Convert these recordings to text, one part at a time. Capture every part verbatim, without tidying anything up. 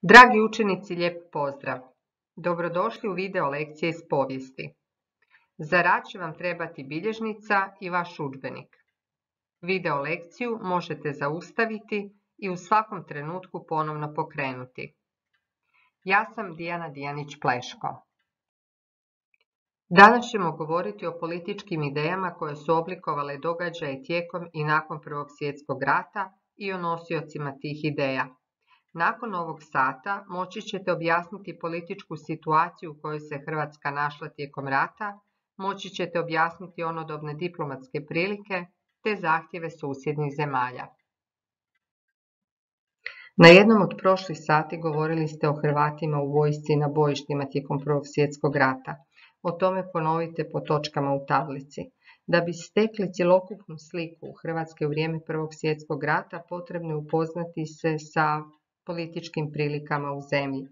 Dragi učenici, lijep pozdrav! Dobrodošli u video lekcije iz povijesti. Za rad će vam trebati bilježnica i vaš udžbenik. Video lekciju možete zaustaviti i u svakom trenutku ponovno pokrenuti. Ja sam Dijana Dijanić-Pleško. Danas ćemo govoriti o političkim idejama koje su oblikovale događaje tijekom i nakon Prvog svjetskog rata i o nosiocima tih ideja. Nakon ovog sata moći ćete objasniti političku situaciju u kojoj se Hrvatska našla tijekom rata, moći ćete objasniti onodobne diplomatske prilike te zahtjeve susjednih zemalja. Na jednom od prošlih sati govorili ste o Hrvatima u vojsci i na bojištima tijekom Prvog svjetskog rata. O tome ponovite po točkama u tablici. Da bi stekli cjelokupnu sliku Hrvatske u vrijeme Prvog svjetskog rata, potrebno je upoznati se sa političkim prilikama u zemlji.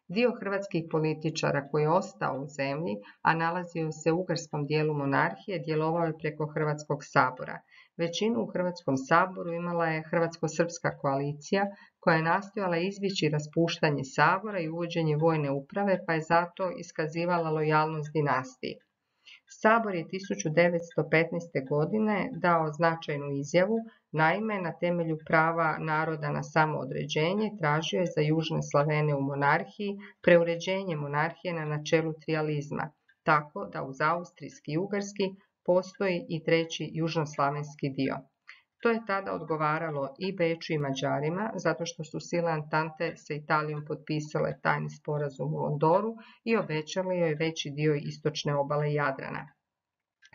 Dio hrvatskih političara koji je ostao u zemlji, a nalazio se u ugarskom dijelu monarhije, djelovao je preko Hrvatskog sabora. Većinu u Hrvatskom saboru imala je Hrvatsko-srpska koalicija koja je nastojala izbjeći raspuštanje sabora i uvođenje vojne uprave, pa je zato iskazivala lojalnost dinastiji. Sabor je tisuću devetsto petnaeste. godine dao značajnu izjavu, naime na temelju prava naroda na samoodređenje tražio je za južne Slavene u monarhiji preuređenje monarhije na načelu trijalizma, tako da uz austrijski i ugarski postoji i treći južnoslavenski dio. To je tada odgovaralo i Beču i Mađarima, zato što su sile Antante sa Italijom potpisale tajni sporazum u Londoru i obećali joj veći dio istočne obale Jadrana.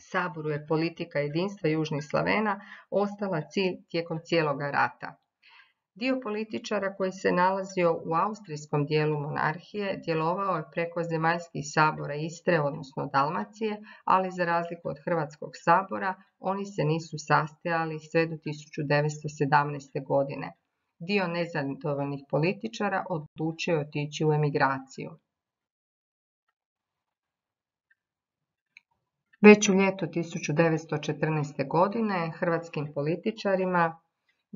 Saboru je politika jedinstva južnih Slavena ostala cilj tijekom cijeloga rata. Dio političara koji se nalazio u austrijskom dijelu monarhije djelovao je preko zemaljskih sabora Istre, odnosno Dalmacije, ali za razliku od Hrvatskog sabora, oni se nisu sastajali sve do tisuću devetsto sedamnaeste. godine. Dio nezadovoljnih političara odlučio je otići u emigraciju. Već u ljeto tisuću devetsto četrnaeste. godine hrvatskim političarima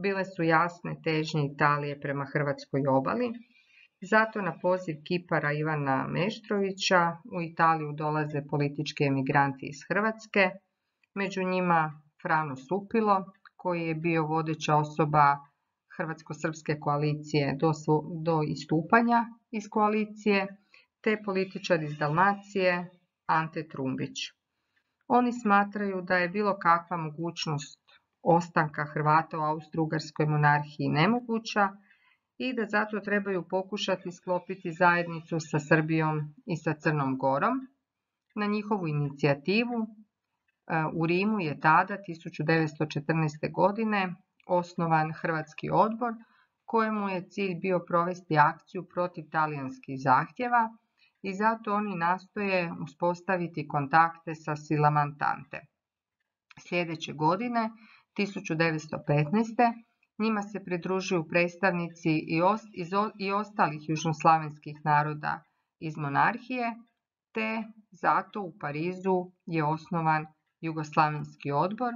bile su jasne težnje Italije prema hrvatskoj obali. Zato na poziv kipara Ivana Meštrovića u Italiju dolaze politički emigranti iz Hrvatske, među njima Frano Supilo, koji je bio vodeća osoba Hrvatsko-srpske koalicije do, do istupanja iz koalicije, te političar iz Dalmacije Ante Trumbić. Oni smatraju da je bilo kakva mogućnost ostanka Hrvata u Austro-Ugarskoj monarhiji nemoguća i da zato trebaju pokušati sklopiti zajednicu sa Srbijom i sa Crnom Gorom. Na njihovu inicijativu u Rimu je tada tisuću devetsto četrnaeste. godine osnovan Hrvatski odbor kojemu je cilj bio provesti akciju protiv talijanskih zahtjeva i zato oni nastoje uspostaviti kontakte sa silama Antante. Sljedeće godine tisuću devetsto petnaeste. njima se pridružuju predstavnici i, ost, iz, i ostalih južnoslavenskih naroda iz monarhije, te zato u Parizu je osnovan Jugoslavenski odbor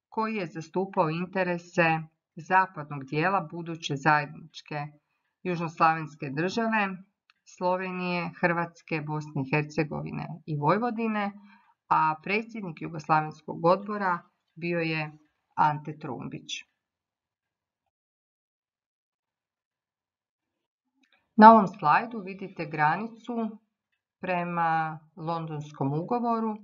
koji je zastupao interese zapadnog dijela buduće zajedničke južnoslavenske države, Slovenije, Hrvatske, Bosne i Hercegovine i Vojvodine, a predsjednik Jugoslavenskog odbora bio je Ante Trumbić. Na ovom slajdu vidite granicu prema Londonskom ugovoru.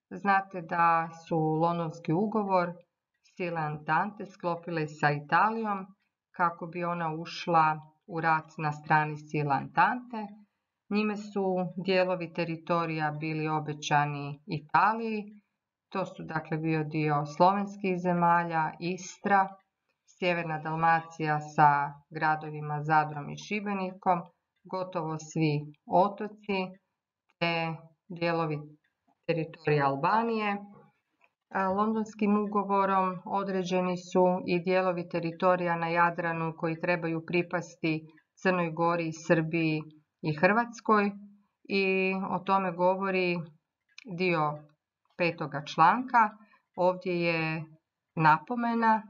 Znate da su Londonski ugovor sile Antante sklopile sa Italijom kako bi ona ušla u rat na strani sila Antante. Njime su dijelovi teritorija bili obećani Italiji. To su dakle bio dio slovenskih zemalja, Istra, sjeverna Dalmacija sa gradovima Zadrom i Šibenikom, gotovo svi otoci, te dijelovi teritorija Albanije. Londonskim ugovorom određeni su i dijelovi teritorija na Jadranu koji trebaju pripasti Crnoj Gori, Srbiji i Hrvatskoj i o tome govori dio petoga članka. Ovdje je napomena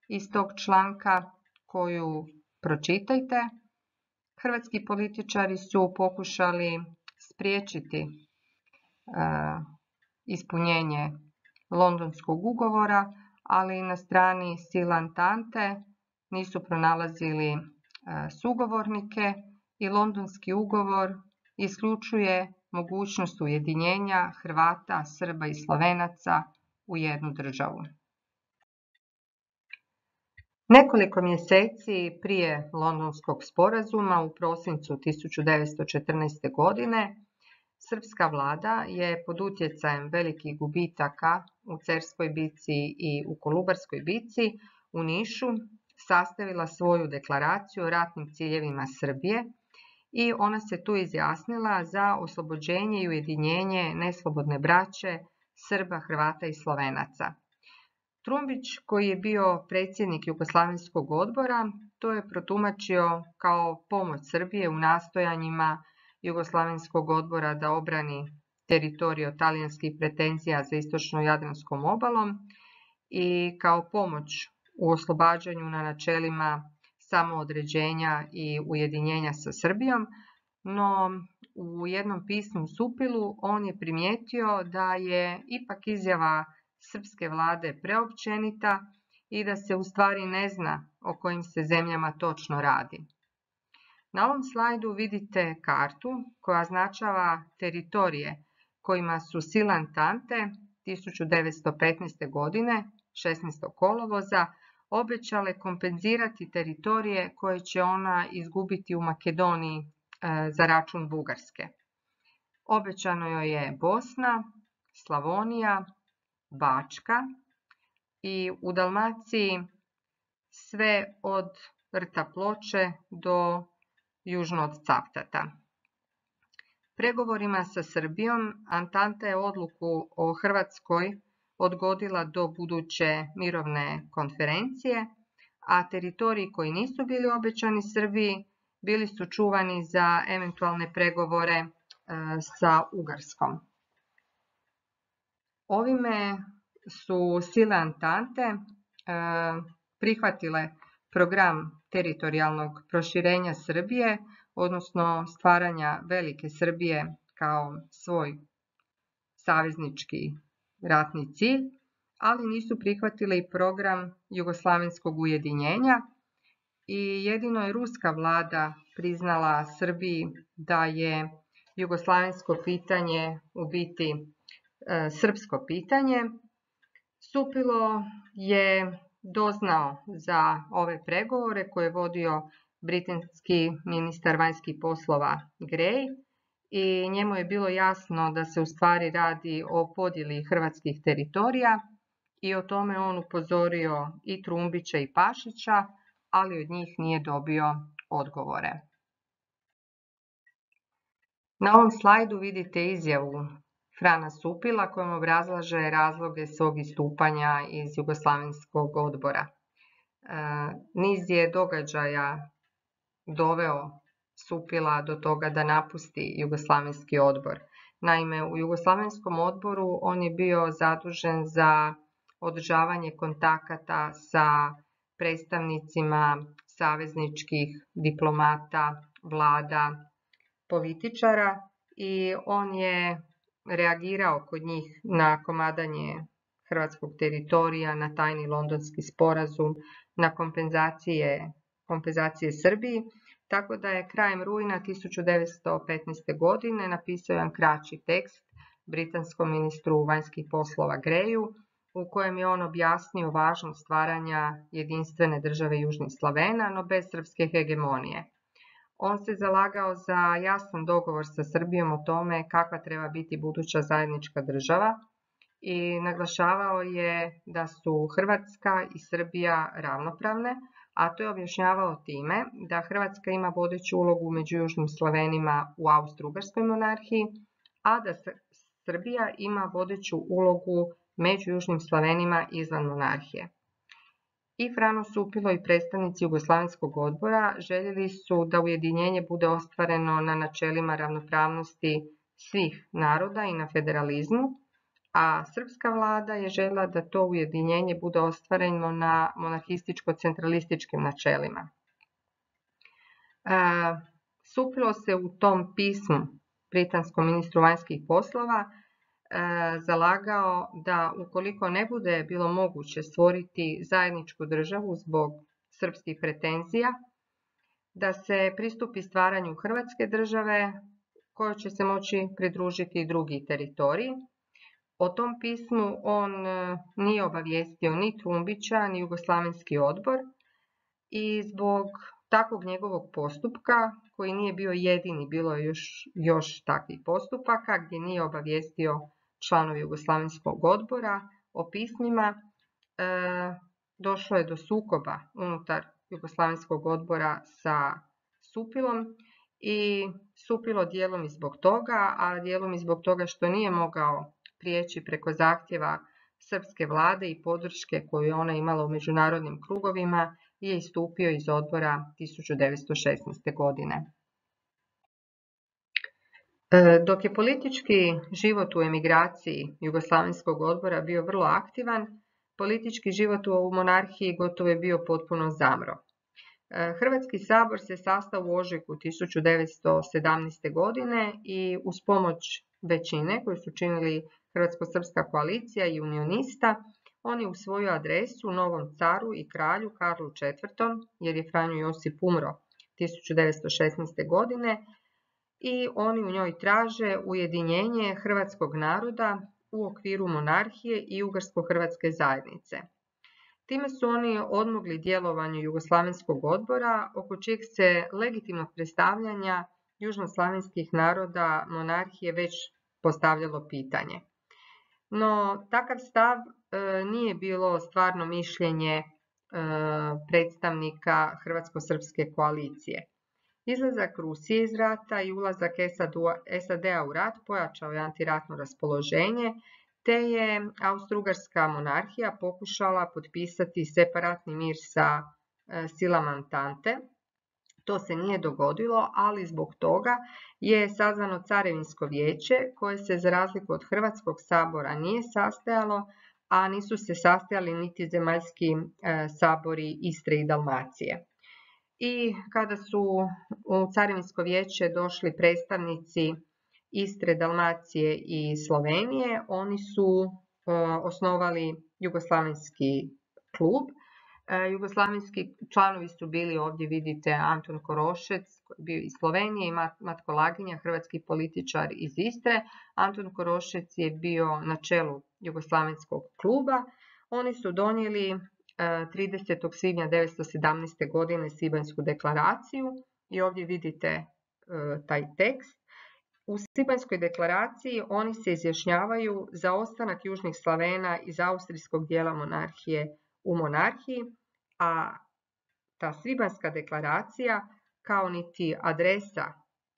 iz tog članka koju pročitajte. Hrvatski političari su pokušali spriječiti e, ispunjenje Londonskog ugovora, ali na strani sila Antante nisu pronalazili e, sugovornike i Londonski ugovor isključuje mogućnost ujedinjenja Hrvata, Srba i Slovenaca u jednu državu. Nekoliko mjeseci prije Londonskog sporazuma u prosincu tisuću devetsto četrnaeste. godine srpska vlada je pod utjecajem velikih gubitaka u Cerskoj bici i u Kolubarskoj bici u Nišu sastavila svoju deklaraciju o ratnim ciljevima Srbije i ona se tu izjasnila za oslobođenje i ujedinjenje neslobodne braće Srba, Hrvata i Slovenaca. Trumbić, koji je bio predsjednik Jugoslavenskog odbora, to je protumačio kao pomoć Srbije u nastojanjima Jugoslavenskog odbora da obrani teritorij od talijanskih pretenzija za istočnom Jadranskom obalom i kao pomoć u oslobađanju na načelima samoodređenja i ujedinjenja sa Srbijom, no u jednom pismu Supilu on je primijetio da je ipak izjava srpske vlade preopćenita i da se u stvari ne zna o kojim se zemljama točno radi. Na ovom slajdu vidite kartu koja označava teritorije kojima su sile Antante tisuću devetsto petnaeste. godine, šesnaestog kolovoza, obećale kompenzirati teritorije koje će ona izgubiti u Makedoniji e, za račun Bugarske. Obećano joj je Bosna, Slavonija, Bačka i u Dalmaciji sve od rta Ploče do južno od Cavtata. Pregovorima sa Srbijom Antanta je odluku o Hrvatskoj odgodila do buduće mirovne konferencije, a teritoriji koji nisu bili obećani Srbiji bili su čuvani za eventualne pregovore e, sa Ugarskom. Ovime su sile Antante e, prihvatile program teritorijalnog proširenja Srbije, odnosno stvaranja velike Srbije kao svoj saveznički ratni cilj, ali nisu prihvatili program jugoslavenskog ujedinjenja i jedino je ruska vlada priznala Srbiji da je jugoslavensko pitanje u biti e, srpsko pitanje. Supilo je doznao za ove pregovore koje je vodio britanski ministar vanjskih poslova Grey i njemu je bilo jasno da se u stvari radi o podjeli hrvatskih teritorija i o tome on upozorio i Trumbića i Pašića, ali od njih nije dobio odgovore. Na ovom slajdu vidite izjavu Frana Supila kojom obrazlaže razloge svog istupanja iz Jugoslavenskog odbora. E, niz je događaja doveo Supila do toga da napusti Jugoslavenski odbor. Naime, u Jugoslavenskom odboru on je bio zadužen za održavanje kontakata sa predstavnicima savezničkih diplomata, vlada, političara i on je reagirao kod njih na komadanje hrvatskog teritorija, na tajni londonski sporazum, na kompenzacije, kompenzacije Srbiji, tako da je krajem rujna tisuću devetsto petnaeste. godine napisao jedan kraći tekst britanskom ministru vanjskih poslova Greyu, u kojem je on objasnio važnost stvaranja jedinstvene države Južnih Slavena, no bez srpske hegemonije. On se zalagao za jasan dogovor sa Srbijom o tome kakva treba biti buduća zajednička država i naglašavao je da su Hrvatska i Srbija ravnopravne, a to je objašnjavao time da Hrvatska ima vodeću ulogu među Južnim Slavenima u Austro-Ugarskoj monarhiji, a da Srbija ima vodeću ulogu među Južnim Slavenima izvan monarhije. I Frano Supilo i predstavnici Jugoslavenskog odbora željeli su da ujedinjenje bude ostvareno na načelima ravnopravnosti svih naroda i na federalizmu, a srpska vlada je željela da to ujedinjenje bude ostvareno na monarhističko-centralističkim načelima. Supilo se u tom pismu britanskom ministru vanjskih poslova e, zalagao da ukoliko ne bude bilo moguće stvoriti zajedničku državu zbog srpskih pretenzija, da se pristupi stvaranju Hrvatske države kojoj će se moći pridružiti i drugi teritoriji. O tom pismu on nije obavijestio ni Trumbića, ni Jugoslavenski odbor i zbog takvog njegovog postupka, koji nije bio jedini, bilo je još, još takvih postupaka gdje nije obavijestio članovi Jugoslavenskog odbora o pismima, e, došlo je do sukoba unutar Jugoslavenskog odbora sa Supilom i Supilo dijelom i zbog toga, a dijelom i zbog toga što nije mogao prijeći preko zahtjeva srpske vlade i podrške koju je ona imala u međunarodnim krugovima, je istupio iz odbora tisuću devetsto šesnaeste. godine. Dok je politički život u emigraciji Jugoslavenskog odbora bio vrlo aktivan, politički život u monarhiji gotovo je bio potpuno zamro. Hrvatski sabor se sastao u ožujku tisuću devetsto sedamnaeste. godine i uz pomoć većine koju su činili Hrvatsko-srpska koalicija i unionista, on je u svoju adresu novom caru i kralju Karlu četvrtom, jer je Franjo Josip umro tisuću devetsto šesnaeste. godine, i oni u njoj traže ujedinjenje hrvatskog naroda u okviru monarhije i Ugarsko-hrvatske zajednice. Time su oni odmogli djelovanju Jugoslavenskog odbora, oko čijeg se legitimnog predstavljanja južnoslavenskih naroda monarhije već postavljalo pitanje. No, takav stav e, nije bilo stvarno mišljenje e, predstavnika Hrvatsko-srpske koalicije. Izlazak Rusije iz rata i ulazak S A D-a u rat pojačao je antiratno raspoloženje, te je Austro-Ugarska monarhija pokušala potpisati separatni mir sa e, silama Antante. To se nije dogodilo, ali zbog toga je sazvano Carevinsko vijeće, koje se za razliku od Hrvatskog sabora nije sastajalo, a nisu se sastajali niti zemaljski e, sabori Istre i Dalmacije. I kada su u Carevinsko vijeće došli predstavnici Istre, Dalmacije i Slovenije, oni su e, osnovali Jugoslavenski klub. E, Jugoslavenski članovi su bili, ovdje vidite, Anton Korošec, koji je bio iz Slovenije, i Matko Laginja, hrvatski političar iz Istre. Anton Korošec je bio na čelu Jugoslavenskog kluba. Oni su donijeli tridesetog svibnja devetsto sedamnaeste. godine Svibanjsku deklaraciju i ovdje vidite e, taj tekst. U Svibanjskoj deklaraciji oni se izjašnjavaju za ostanak južnih Slavena iz austrijskog dijela monarhije u monarhiji, a ta Svibanjska deklaracija, kao niti adresa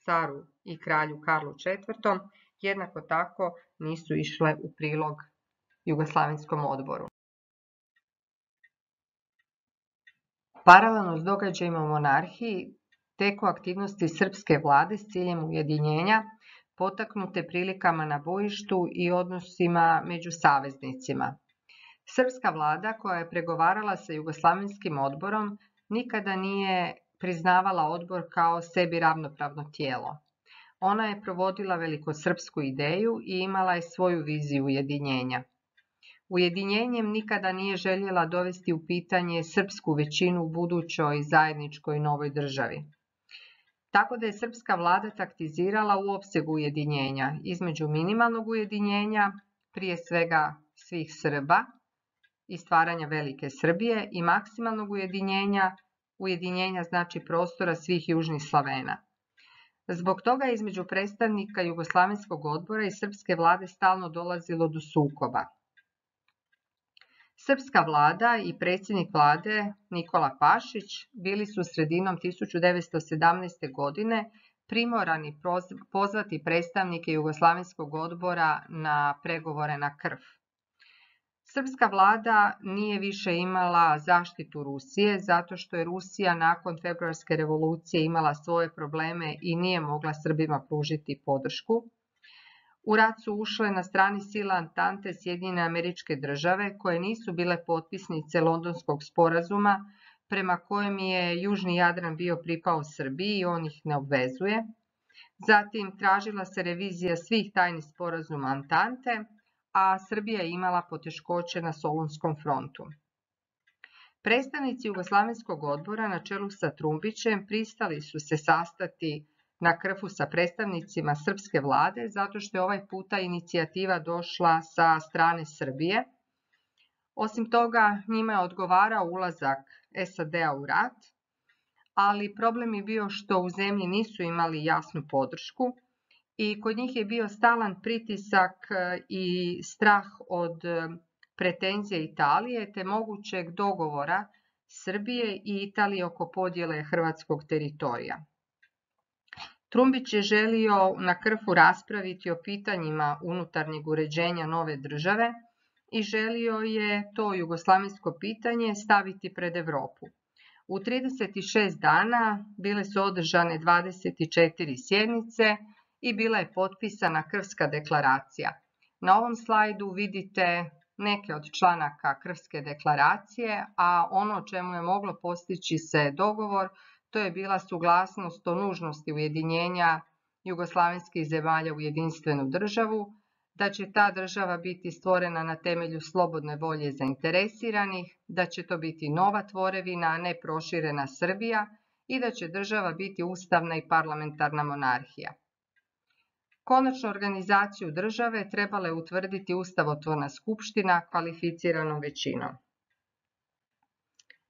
caru i kralju Karlu četvrtom, jednako tako nisu išle u prilog Jugoslavenskom odboru. Paralelno s događajima u monarhiji teku aktivnosti srpske vlade s ciljem ujedinjenja, potaknute prilikama na bojištu i odnosima među saveznicima. Srpska vlada, koja je pregovarala sa Jugoslavenskim odborom, nikada nije priznavala odbor kao sebi ravnopravno tijelo. Ona je provodila velikosrpsku ideju i imala je svoju viziju ujedinjenja. Ujedinjenjem nikada nije željela dovesti u pitanje srpsku većinu u budućoj zajedničkoj novoj državi. Tako da je srpska vlada taktizirala u opsegu ujedinjenja između minimalnog ujedinjenja, prije svega svih Srba i stvaranja Velike Srbije, i maksimalnog ujedinjenja, ujedinjenja znači prostora svih južnih Slavena. Zbog toga je između predstavnika Jugoslavenskog odbora i srpske vlade stalno dolazilo do sukoba. Srpska vlada i predsjednik vlade Nikola Pašić bili su sredinom tisuću devetsto sedamnaeste. godine primorani pozvati predstavnike Jugoslavenskog odbora na pregovore na krv. Srpska vlada nije više imala zaštitu Rusije, zato što je Rusija nakon februarske revolucije imala svoje probleme i nije mogla Srbima pružiti podršku. U rat su ušle na strani sila Antante Sjedinjene Američke Države, koje nisu bile potpisnice Londonskog sporazuma, prema kojem je Južni Jadran bio pripao Srbiji i on ih ne obvezuje. Zatim tražila se revizija svih tajnih sporazuma Antante, a Srbija je imala poteškoće na Solunskom frontu. Predstavnici Jugoslavenskog odbora na čelu sa Trumbićem pristali su se sastati na Krfu sa predstavnicima srpske vlade zato što je ovaj puta inicijativa došla sa strane Srbije. Osim toga, njima je odgovarao ulazak S A D-a u rat, ali problem je bio što u zemlji nisu imali jasnu podršku i kod njih je bio stalan pritisak i strah od pretenzije Italije te mogućeg dogovora Srbije i Italije oko podjele hrvatskog teritorija. Trumbić je želio na Krfu raspraviti o pitanjima unutarnjeg uređenja nove države i želio je to jugoslavensko pitanje staviti pred Evropu. U trideset šest dana bile su održane dvadeset četiri sjednice i bila je potpisana Krfska deklaracija. Na ovom slajdu vidite neke od članaka Krfske deklaracije, a ono o čemu je moglo postići se dogovor, to je bila suglasnost o nužnosti ujedinjenja jugoslavenskih zemalja u jedinstvenu državu, da će ta država biti stvorena na temelju slobodne volje zainteresiranih, da će to biti nova tvorevina, a ne proširena Srbija i da će država biti ustavna i parlamentarna monarhija. Konačnu organizaciju države trebala je utvrditi Ustavotvorna skupština kvalificiranom većinom.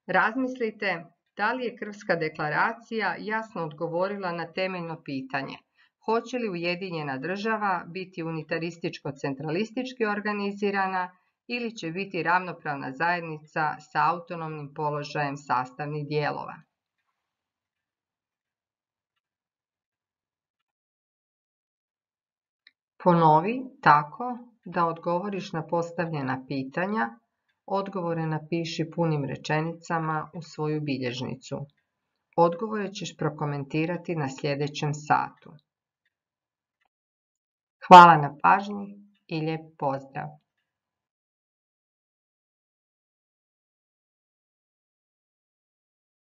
Razmislite da li je Krfska deklaracija jasno odgovorila na temeljno pitanje: hoće li ujedinjena država biti unitarističko-centralistički organizirana ili će biti ravnopravna zajednica sa autonomnim položajem sastavnih dijelova? Ponovi tako da odgovoriš na postavljena pitanja. Odgovore napiši punim rečenicama u svoju bilježnicu. Odgovore ćeš prokomentirati na sljedećem satu. Hvala na pažnji i lijep pozdrav!